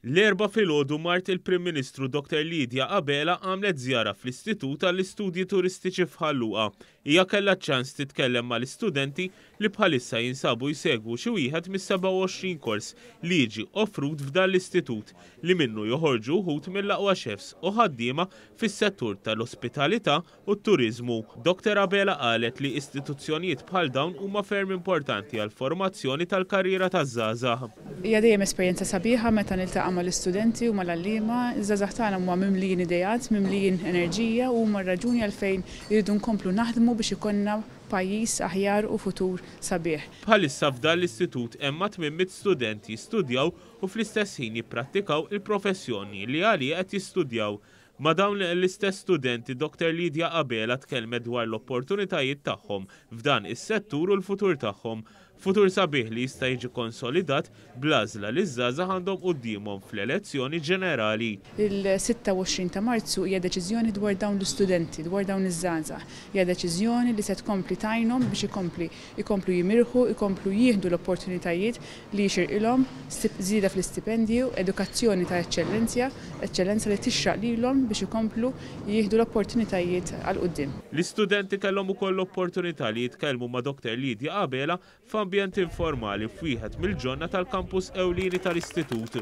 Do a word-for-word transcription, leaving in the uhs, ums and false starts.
L-Erbgħa filgħodu mart il-Prim Ministru Doctor Lydia Abela għamlet żjara fl-Istitut għall-Istudji Turistiċi f'Ħal Luqa. Hija kellha ċans titkellem mal-istudenti li bħalissa jinsabu jsegwu xi wieħed mis-sebgħa u għoxrin kors li jiġi offrut f'dan l-istitut li minnu joħorġu wħud mill-aqwa chefs u ħaddiema fis-settur tal-ospitalità u t-turiżmu. Doctor Abela qalet li istituzzjonijiet bħal dawn huma ferm importanti għall-formazzjoni tal-karriera taż-żgħażagħ. Hija dejjem esperjenza sabiħa meta niltaqa' mal-istudenti u mal-għalliema. Iż-żgħażagħ tagħna huma mimlijin ideat, mimlijin enerġija u huma r-raġuni għalfejn irridu nkomplu naħdmu biex ikollna pajjiż aħjar u futur sabiħ. Bħalissa f'dan l-istitut hemm ma' tmien mitt student jistudjaw u fl-istess ħin jipprattikaw il-professjoni li għalija qed jistudjaw. Ma' dawn l-istess studenti Doctor Lydia Abela tkellmet dwar l-opportunitajiet tagħhom f'dan is-settur u l-futur tagħhom. Futur sabiħ li jista' jiġi konsolidat bl-għażla li ż-żgħażagħ għandhom quddiemhom fl-elezzjoni ġenerali. Il-sitta u għoxrin ta' Marzu hija deċiżjoni dwar dawn l-istudenti, dwar dawn iż-żgħażagħ. Hija deċiżjoni li se tkompli tgħinhom biex ikompli, ikomplu jimirħu, ikomplu jieħdu l-opportunitajiet li jixirqilhom, stip-, żieda fl-istipendju, edukazzjoni ta' eċċellenzja, eċċellenza li tixraq lilhom biex ikomplu jieħdu l-opportunitajiet għal quddiem. L-istudenti kellhom ukoll l-opportunità li jitkellmu ma' Doctor Lydia Abela f'ambjent informali f'wieħed mill-ġonna tal-kampus ewlieni tal-istitut.